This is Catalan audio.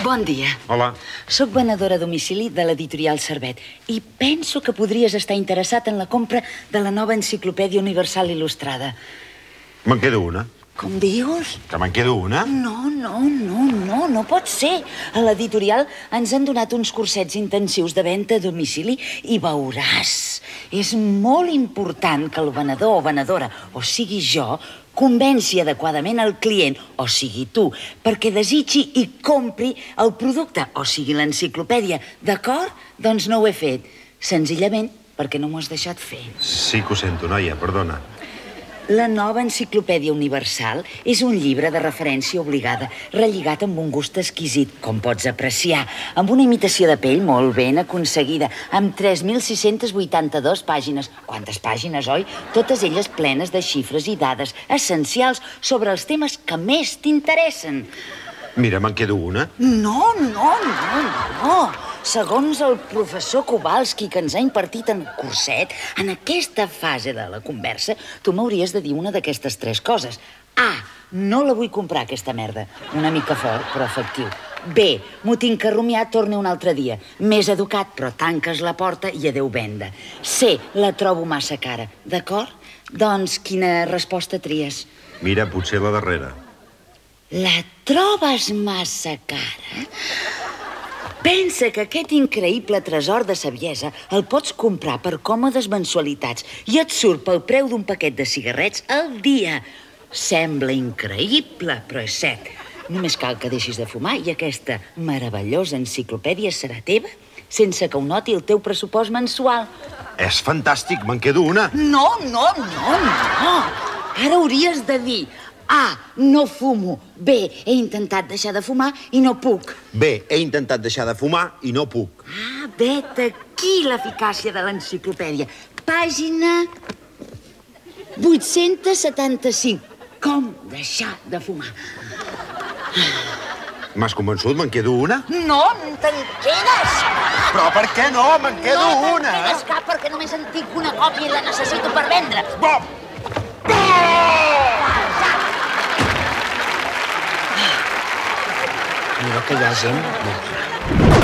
Bon dia. Hola. Soc venedora a domicili de l'editorial Servet i penso que podries estar interessat en la compra de la nova enciclopèdia universal il·lustrada. Me'n quedo una. Com dius? Que me'n quedo una? No pot ser. A l'editorial ens han donat uns cursets intensius de venda a domicili i veuràs. És molt important que el venedor o venedora, o sigui jo, convenci adequadament el client, o sigui tu, perquè desitgi i compri el producte, o sigui l'enciclopèdia. D'acord? Doncs no ho he fet. Senzillament perquè no m'ho has deixat fer. Sí que ho sento, noia, perdona. La nova enciclopèdia universal és un llibre de referència obligada, relligat amb un gust exquisit, com pots apreciar, amb una imitació de pell molt ben aconseguida, amb 3.682 pàgines. Quantes pàgines, oi? Totes elles plenes de xifres i dades essencials sobre els temes que més t'interessen. Mira, me'n quedo una. No. Segons el professor Kowalski, que ens ha impartit en curset, en aquesta fase de la conversa, tu m'hauries de dir una d'aquestes tres coses. A, no la vull comprar, aquesta merda. Una mica fort, però efectiu. B, m'ho tinc que rumiar, torni un altre dia. Més educat, però tanques la porta i adeu venda. C, la trobo massa cara. D'acord? Doncs quina resposta tries? Mira, potser la darrera. La trobes massa cara? Pensa que aquest increïble tresor de saviesa el pots comprar per còmodes mensualitats i et surt pel preu d'un paquet de cigarrets al dia. Sembla increïble, però és cert. Només cal que deixis de fumar i aquesta meravellosa enciclopèdia serà teva sense que ho noti el teu pressupost mensual. És fantàstic, me'n quedo una. No. Ara hauries de dir: A, no fumo. B, he intentat deixar de fumar i no puc. B, he intentat deixar de fumar i no puc. Ah, vet aquí l'eficàcia de l'enciclopèdia. Pàgina 875. Com deixar de fumar. M'has convençut? Me'n quedo una? No, te'n quedes. Però per què no? Me'n quedo una. No te'n quedes cap perquè només en tinc una còpia i la necessito per vendre. Bom! Mira que hi ha gent.